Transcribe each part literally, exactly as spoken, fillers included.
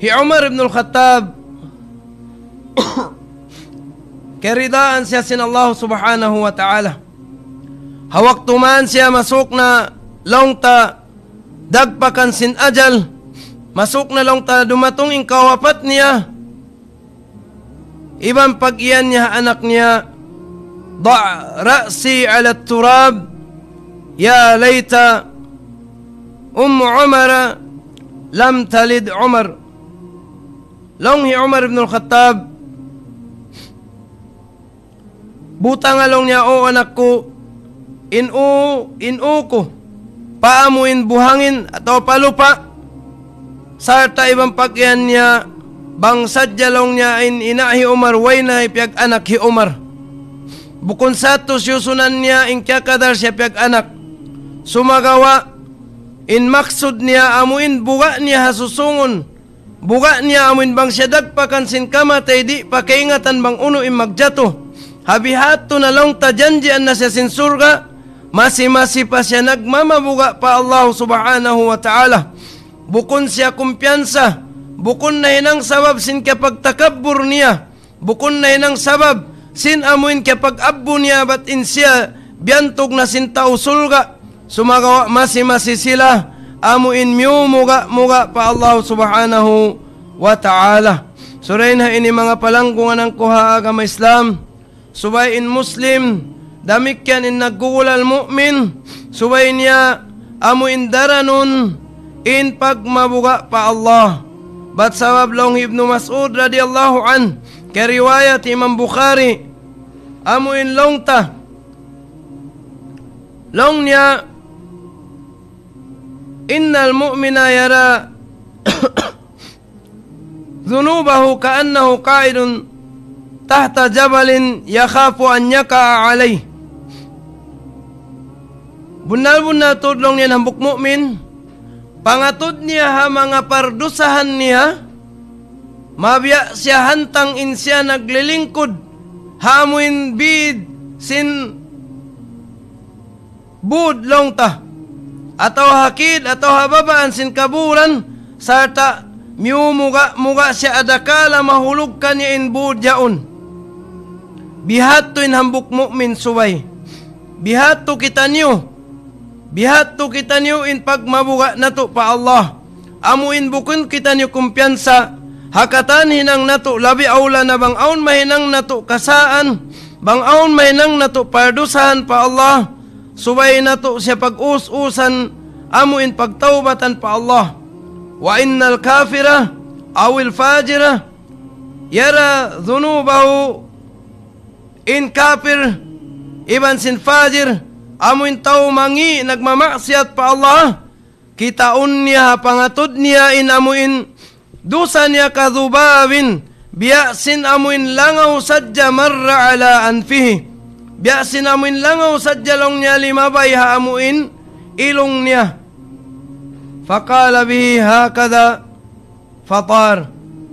Hi Umar ibn al-Khattab, kiyaridaan siya sin Allah subhanahu wa ta'ala. Ha waktu man siya masuk na laung ta dagpakan sin ajal, masuk na laung ta dumatung in kawapat niya, iban pag-iyan niya ha anak niya, ضع رأسي على التراب يا ليت أم عمر لم تلد عمر. Laung hi Umar ibn al-Khattab, butanga laung niya, O anak ku, in u, in u ku, pa amu in buhangin atawa pa lupa', sarta' iban pag-iyan niya, bang sadja laung niya in ina' hi Umar, way na hipiyag-anak hi Umar. Bukun sa tuud siyusunan niya in kiyakadar siya piyag-anak. Sumagawa', in maksud niya amu in buga' niya ha susungun, buga' niya amu in bang siya dagpakan sin kamatay, di' pa kaingatan bang unu in magjatu. Ha bihadtu na laung ta janjian na siya sin surga', masi-masi pa siya nagmamabuga' pa Allah subhanahu wa ta'ala. Bukun siya kumpiyansa, bukun nahinang sabab sin kiyapagtakabbur niya, bukun nahinang sabab sin amu in kiyapag-abbu niya bat in siya biyantug na sin tau surga'. Sumagawa' masi-masi sila amu in miyumuga'-muga' pa Allah subhanahu wa ta'ala. Surain ha ini manga palanggungan ku ha agama Islam, subay in Muslim, damikkiyan in naggugulal mu'min, subay niya amu in daranun in pagmabuga' pa Allah. Bat sabab laung Ibnu Mas'ud radiyallahu anhu, kariwayat Imam Bukhari, amu in laung ta, laung niya, إن المؤمن يرى ذنوبه كأنه قاعد تحت جبل يخاف أن يقع عليه. Bunnal-bunnal tuud laung niya in hambuuk mu'min, pangatud niya ha manga pardusahan niya, mabiya' siya hantang in siya naglilingkud ha amu in bid sin būd laung ta, atawa ha kid, atawa ha babaan sin kaburan, sarta' miyumuga'-muga' siya adakala mahulug kaniya in būd yaun. Bihadtu in hambuuk mu'min subay. Bihadtu kitaniyu. Bihadtu kitaniyu in pagmabuga' natu' pa Allah. Amu in bukun kitaniyu kumpiyansa, ha katan hinang natu' labi awla na bang awn mahinang natu' kasaan, bang awn mahinang natu' pardusahan pa Allah, subay natu' siya pag-us-usan, amu in pagtawbatan pa Allah. وإن الكافر أو الفاجر يرى ذنوبه. In kapir, iban sin fajir, amu in tau mangi' nagmamaksiyat pa Allah, kitaun niya ha pangatud niya in amu in dusa niya كذباب, biya' sin amu in langaw sadja مر على أنفه. Biya' sin amu in langaw sadja laung niya limabay ha amu in ilung niya. فقال به هكذا فطار.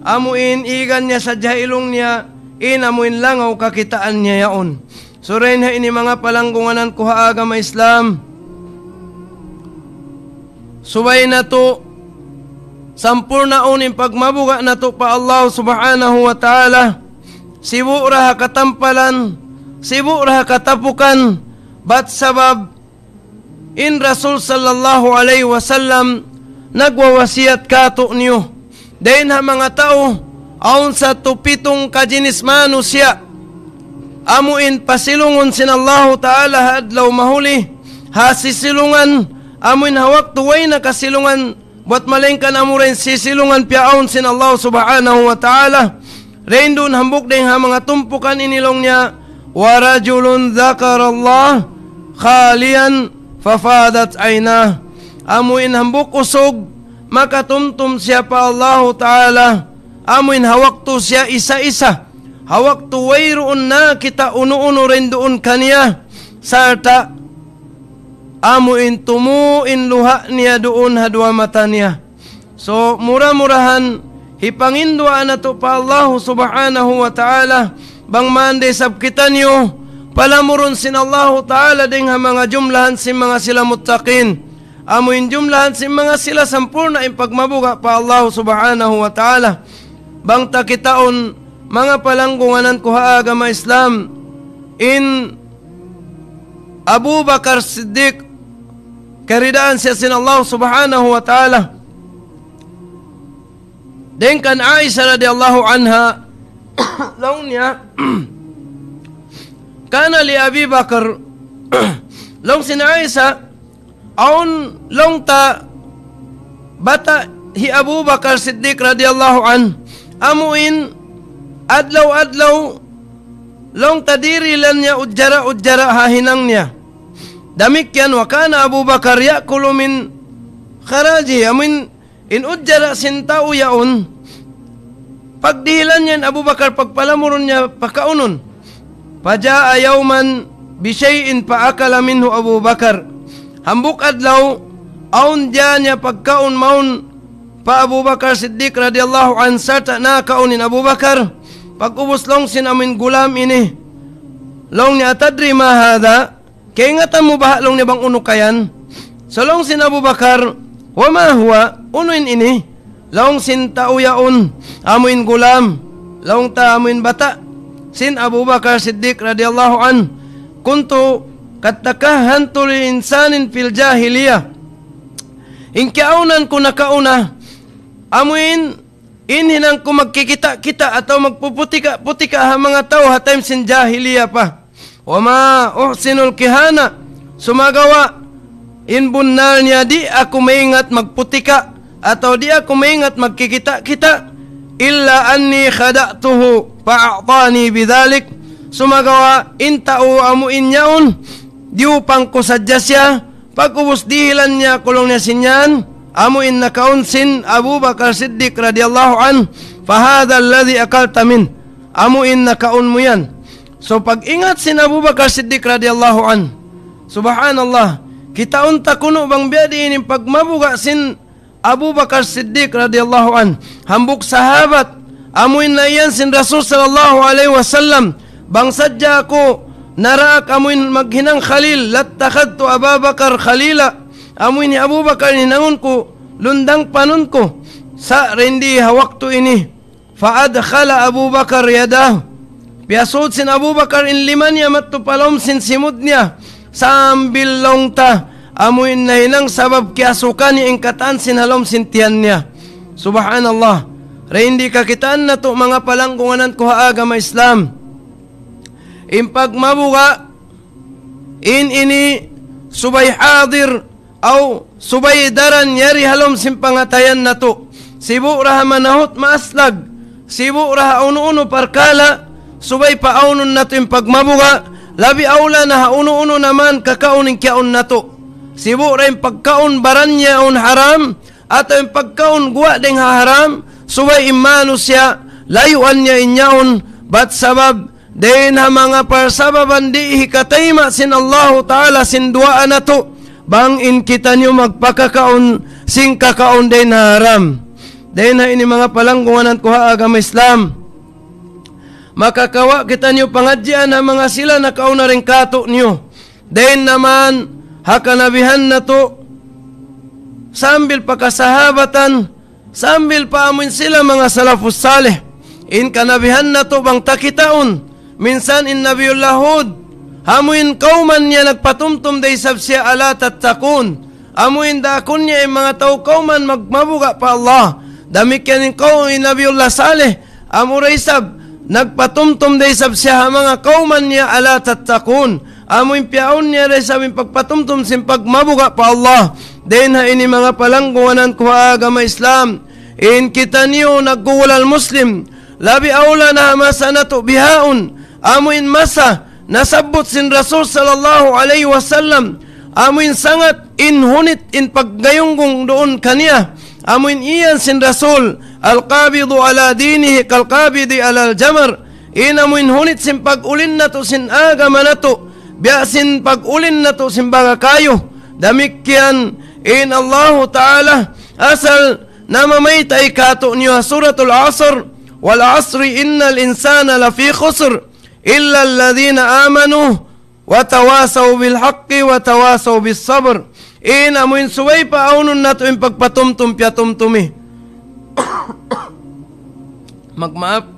Amu in īgan niya sadja ha ilung niya, in amu in langaw kakitaan niya yaun. Surain ha ini manga palanggungan ku ha agama Islam. Subay natu' sampurnaun in pagmabuga' natu' pa Allah subhanahu wa ta'ala. Sibu' ra ha katampalan, sibu' ra ha katapukan, bat sabab in Rasul sallallahu alayhi wasallam nagwawasiyat kātu'niyu. Dayn ha manga tau, awn sa tupitung kajinis manusiya'. Amu in pasilungun sin Allahu Ta'ala ha adlaw mahuli, ha sisilungan, amu in ha waktu way na kasilungan, buwat malaingkan amura in sisilungan piyaawn sin Allah Subhanahu wa Ta'ala. Dayn duun hambuuk dayn ha manga tumpukan ini laung niya, ورجل ذكر الله خاليا ففاضت عيناه. Amu in hambuuk usug, makatumtum siya pa Allahu Ta'ala, amu in ha waktu siya isa-isa, ha waktu wayruun na kita unu-unu dayn duun kaniya, sarta' amu in tumu' in luha' niya duun ha duwa mata niya. So, mura-murahan, hipanginduwaa natu' pa Allahu Subhanahu wa Ta'ala, bang man da isab kitaniyu, palamurun sin Allahu Ta'ala dayn ha manga jumlahan sin manga sila muttaqin. amu in jumlahan sin manga sila sampurna' in pagmabuga' pa Allah Subhanahu wa Ta'ala. Bang ta kitaun manga palanggungan ku ha agama Islam, in Abu Bakar Siddiq, kiyaridaan siya sin Allah Subhanahu wa Ta'ala. Dayn kan Aisha radiyallahu anha, laung niya, كان لأبي بكر, laung sin Aisha, awn laung ta bata' hi Abu Bakar Siddiq radiyallahu anhu, amu in adlaw-adlaw laung ta dirihilan niya ujara-ujara ha hinang niya. Damikkiyan, وكان أبو بكر يأكل من خراجه, amu in in ujara sin tau yaun, pagdihilan niya in Abu Bakar, pagpalamurun niya pakaunun. فجاء يوما بشيء فأكل منه أبو بكر. Hambuuk adlaw, awn diyā niya pagkaun mawn pa Abu Bakar Siddiq radiyallahu anhu, sarta' nakaun in Abu Bakar. Pag'ubus laung sin amu in gulam ini, laung niya, أتدري ما هذا؟ Kaingatan mu baha' laung niya bang unu ka yan? So laung sin Abu Bakar, وما هو, unu in ini? Laung sin tau yaun, amu in gulam, laung ta amu in bata' sin Abu Bakar Siddiq radiyallahu anhu. كنت قد تكهنت لإنسان في الجاهلية. In kiyaunan ku nakauna, amu in, in hinang ku magkikita'-kita' atawa magpuputika'-putika' ha manga tau ha time sin jahiliya pa. وما أحسن الكهانة, sumagawa' in bunnal niya di' aku maingat magputika' atawa di' aku maingat magkikita'-kita'. إلا أني خدعته فأعطاني بذلك. Sumagawa' in tau amu in yaun, diyupang ku sadja siya, pag'ubus dihilan niya aku laung niya sin yan, amu in nakaun sin Abu Bakar Siddiq radiyallahu anhu, فهذا الذي أكلت منه. Amu in nakaun mu yan. So, pag-ingat sin Abu Bakar Siddiq radiyallahu anhu. Subhanallah. Kitaun ta kunu' bang biya' diin in pagmabuga' sin Abu Bakar Siddiq radiyallahu anhu. Hambuuk sahabat, amu in naiyan sin Rasul sallallahu alayhi wasallam. Bang sadja aku naraak amu in maghinang khalil, لاتخذت أبا بكر خليلا. Amu in hi Abu Bakar hinangun ku, lundang panun ku. Sa' dayn di ha waktu ini. فأدخل أبو بكر يداه. Piyasud sin Abu Bakar in lima niya madtu pa lawm sin simud niya. Sambil laung ta, amu in nahinang sabab kiyasukan niya in katan sin ha lawm sin tiyan niya. Subhanallah. Dayn di kakitaan natu' manga palanggungan ku ha agama Islam. In pagmabuga', in ini subay hadir aw subay daran yari ha lawm sin pangatayan natu'. Sibu' da ha manahut maaslag, sibu' da ha unu-unu parkala', subay paawnun natu' in pagmabuga', labi awla na ha unu-unu na man kakaun in kiyaun natu'. Sibu' da in pagkaun baran niya awn haram, atawa in pagkaun guwa' dayn ha haram, subay in manusiya', layuan niya in yaun, bat sabab, dayn ha manga parsababan di' hikatayma' sin Allahu Ta'ala sin duwaa natu', bang in kitaniyu magpakakaun sin kakaun dayn ha haram. Dayn ha ini manga palanggungan ku ha agama Islam. Makakawa' kitaniyu pangadjian ha manga sila nakauna dayn kātu'niyu. Dayn na man ha kanabihan natu', sambil pa kasahabatan, sambil pa amuin sila manga salafus salih. In kanabihan natu' bang ta kitaun, minsan in Nabiyullah Hud, amuin kawman niya nagpatumtum da isab siya, ألا تتقون. Amuin daakun niya in manga tau kawman magmabuga' pa Allah. Damikkiyan in kaw-, in Nabiyullah Salih, amura isab, nagpatumtum da isab siya ha manga kawman niya, ألا تتقون. Amuin piyaun niya da isab in pagpatumtum sin pagmabuga' pa Allah. Dayn ha ini manga palanggungan ku ha agama Islam. In kitaniyu naggugulal Muslim. Labi awla na ha masa natu' bihaun. Amuin masa nasabbut sin Rasul sallallahu alayhi wasallam. Amuin sangat in hunit in paggayunggung duun kaniya. Amuin iyan sin Rasul, القابض على دينه كالقابض على الجمر. In amuin hunit sin pag-ulin natu' sin agama natu', biya' sin pag-ulin natu' sin baga kayu. Damikkiyan in Allahu Ta'ala, asal namamayta' kātu'niyu ha Suratul Asr, والعصر إن الإنسان لفي خسر إلا الذين آمنوا وتواصوا بالحق وتواصوا بالصبر. In amuin subay paawnun natu' in pagpatumtum piyatumtumi. Magmaap.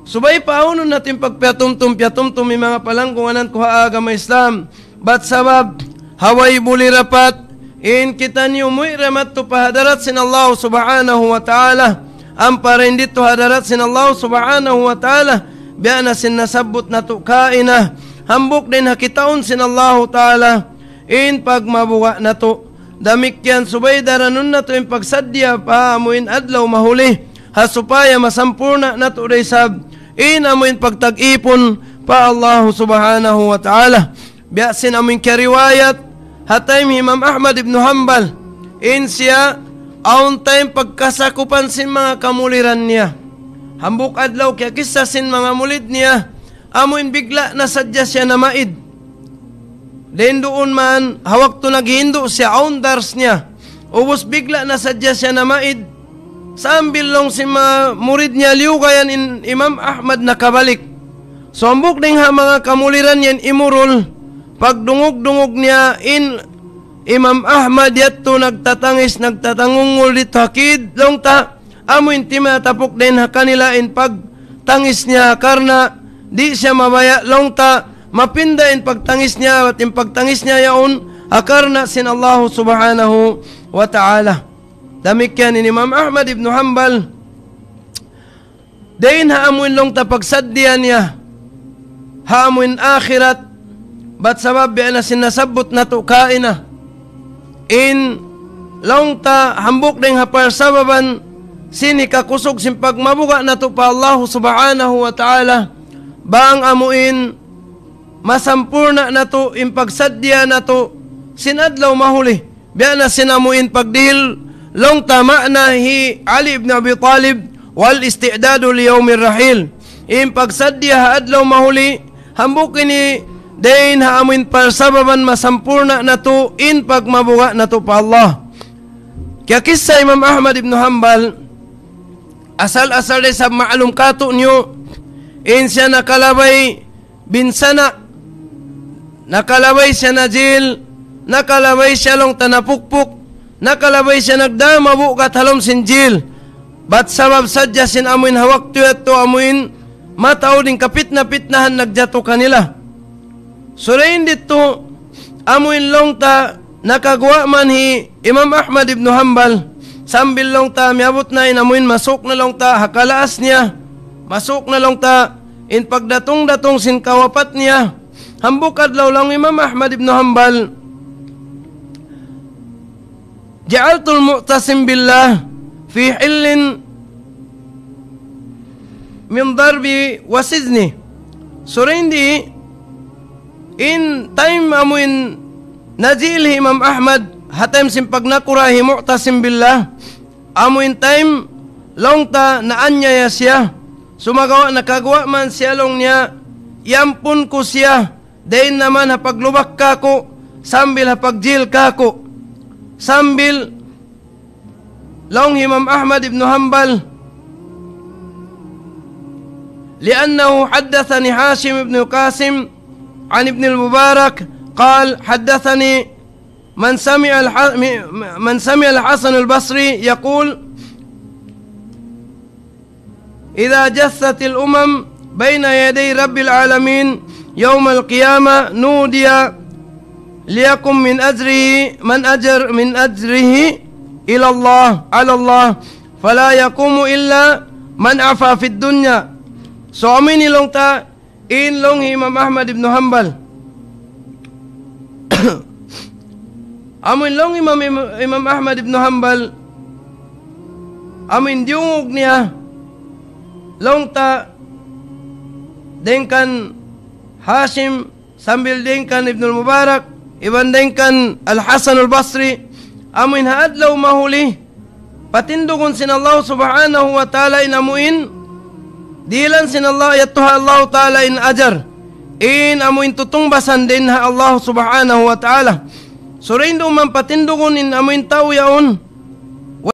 Subay paawnun natu' in pagpiyatumtum piyatumtumi, manga palanggungan ku ha agama Islam. Bat sabab, ha way buli rapat, in kitaniyu muwi' ra madtu pa hadarat sin Allah subhanahu wa ta'ala. Ampa dayn didtu ha hadarat sin Allah subhanahu wa ta'ala, biya' na sin nasabbut natu' kaina. Hambuuk dayn ha kitaun sin Allah ta'ala, in pagmabuga' natu'. Damikkiyan subay daranun natu' in pagsaddiya pa amuin adlaw mahuli. Ha supaya masampurna' natu' da isab in amuin pagtag-ipun pa Allah subhanahu wa ta'ala. Biya' sin amuin kiyariwayat, ha time hi Imam Ahmad ibn Hanbal, in siya, awn time pagkasakupan sin manga kamuliran niya. Hambuuk adlaw kiyakissa sin manga mulid niya, amuin bigla' na sadja siya namaid. Dayn duun man, ha waktu naghindu' siya awn dars niya. Ubus bigla' na sadja siya namaid. Sambil laung sin manga murid niya liyugayan in Imam Ahmad nakabalik. So hambuuk dayn ha manga kamuliran niya in imurul, pagdungug-dungug niya in Imam Ahmad yadtu nagtatangis, nagtatangungul didtu ha kid, laung ta, amuin timatapuk dayn ha kanila in pagtangis niya karna' di' siya mabaya' laung ta mapinda in pagtangis niya, bat in pagtangis niya yaun ha karna' sin Allah subhanahu wa ta'ala. Damikkiyan in Imam Ahmad ibn Hanbal, dayn ha amuin laung ta pagsaddiya niya ha amuin akhirat, bat sabab biya' na sin nasabbut natu' kaina. In laung ta hambuuk dayn ha parsababan sin hikakusug sin pagmabuga' natu' pa Allah subhanahu wa ta'ala, bang amuin masampurna' natu' in pagsaddiya natu' sin adlaw mahuli. Biya' na sin amuin pagdihil laung ta ma'na hi Ali ibn Abi Talib, والاستعداد ليوم الرحيل. In pagsaddiya ha adlaw mahuli, hambuuk ini dayn ha amuin parsababan masampurna' natu' in pagmabuga' natu' pa Allah. Kiyakissa Imam Ahmad ibn Hanbal, asal-asal da isab ma'lum kātu'niyu, in siya nakalabay binsana', nakalabay siya na jil, nakalabay siya laung ta napukpuk, nakalabay siya nagdamabu' kat ha lawm sin jil. Bat sabab sadja sin amuin ha waktu yadtu amuin mataud in kapitna-pitnahan nagjatu kanila. So dayn didtu, amuin laung ta nakaguwa' man hi Imam Ahmad ibn Hanbal, sambil laung ta miyabut na in amuin masuk na laung ta ha kalaas niya, masuk na laung ta in pagdatung-datung sin kawapat niya. Hambuuk adlaw laung Imam Ahmad ibn Hanbal, جعلت المعتصم بالله في حل من ضرب وسجن. So dayn di, in time amuin najil hi Imam Ahmad, ha time sin pagnakura' hi Mu'tasim Billah, amuin time laung ta naanyaya siya, sumagawa' nakaguwa' man siya laung niya, iyampun ku siya, dayn naman ha paglubak kāku', sambil ha pagjil kāku'. Sambil laung Imam Ahmad ibn Hanbal, لأنه حدثني هاشم بن قاسم عن ابن المبارك قال: حدثني من سمع الح-، من سمع الحسن البصري يقول: إذا جثت الأمم بين يدي رب العالمين يوم القيامة نودي ليكن من أجره، من أجر، من أجره إلى الله، على الله، فلا يقوم إلا من عفا في الدنيا. So amuin laung ta in laung Imam Ahmad ibn Hanbal. Amuin laung Imam, Imam, Imam Ahmad ibn Hanbal, amuin diyungug niya, laung ta dayn kan Hashim, sambil dayn kan Ibnul Mubarak, iban dayn kan Al-Hasan Al-Basri, amuin ha adlaw mahuli, patindugun sin Allah Subhanahu wa Ta'ala in amuin, dihilan sin Allah, yadtu ha Allah Ta'ala in ajar. In amuin tutungbasan dayn ha Allah Subhanahu wa Ta'ala. Sura in duman patindugun in amuin tau yaun,